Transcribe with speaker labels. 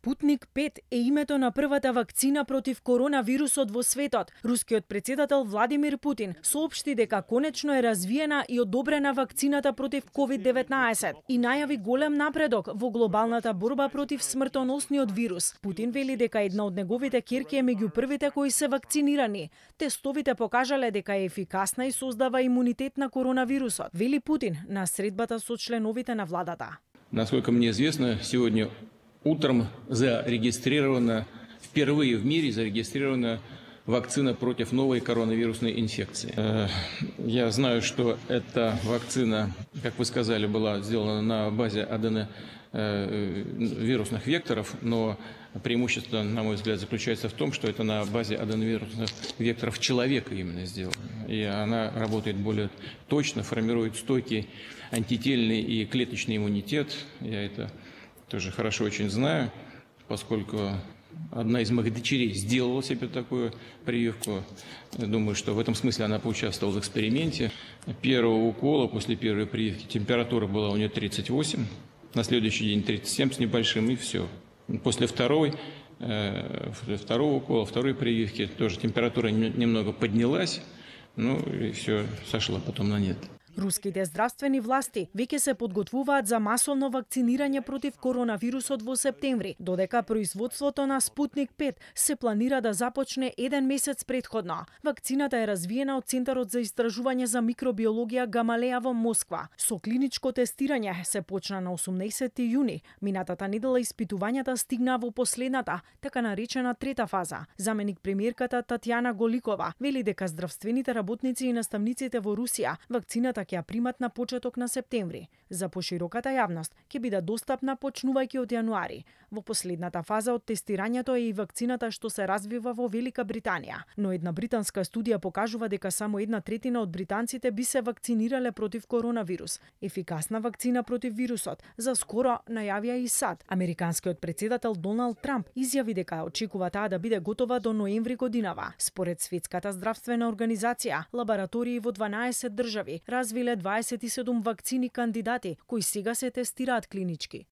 Speaker 1: Спутник 5 е името на првата вакцина против коронавирусот во светот. Рускиот претседател Владимир Путин соопшти дека конечно е развиена и одобрена вакцината против COVID-19 и најави голем напредок во глобалната борба против смртоносниот вирус. Путин вели дека една од неговите ќерки е меѓу првите кои се вакцинирани. Тестовите покажале дека е ефикасна и создава имунитет на коронавирусот, вели Путин на средбата со членовите на владата.
Speaker 2: Насколько мне известно, сегодня утром впервые в мире зарегистрирована вакцина против новой коронавирусной инфекции. Я знаю, что эта вакцина, как вы сказали, была сделана на базе аденовирусных векторов, но преимущество, на мой взгляд, заключается в том, что это на базе аденовирусных векторов человека именно сделано. И она работает более точно, формирует стойкий антительный и клеточный иммунитет. Я это тоже хорошо очень знаю, поскольку одна из моих дочерей сделала себе такую прививку. Думаю, что в этом смысле она поучаствовала в эксперименте. Первого укола, после первой прививки, температура была у нее 38, на следующий день 37 с небольшим, и все. После второго укола, второй прививки, тоже температура немного поднялась, ну и все, сошла потом на нет.
Speaker 1: Руските здравствени власти веќе се подготвуваат за масовно вакцинирање против коронавирусот во септември, додека производството на Спутник 5 се планира да започне еден месец претходно. Вакцината е развиена од Центарот за истражување за микробиологија Гамалеја во Москва. Со клиничко тестирање се почна на 18 јуни. Минатата недела испитувањата стигнаа во последната, така наречена трета фаза. Заменик премиерката Татјана Голикова вели дека здравствените работници и наставниците во Русија вакцината ќе ја примат на почеток на септември. За пошироката јавност ќе биде достапна почнувајќи од јануари. Во последната фаза од тестирањето е и вакцината што се развива во Велика Британија. Но една британска студија покажува дека само 1/3 од британците би се вакцинирале против коронавирус. Ефикасна вакцина против вирусот за скоро најавија и САД. Американскиот претседател Доналд Трамп изјави дека очекува таа да биде готова до ноември годинава. Според Светската здравствена организација, лаборатории во 12 држави развиле 27 вакцини кандидати кои сега се тестираат клинички.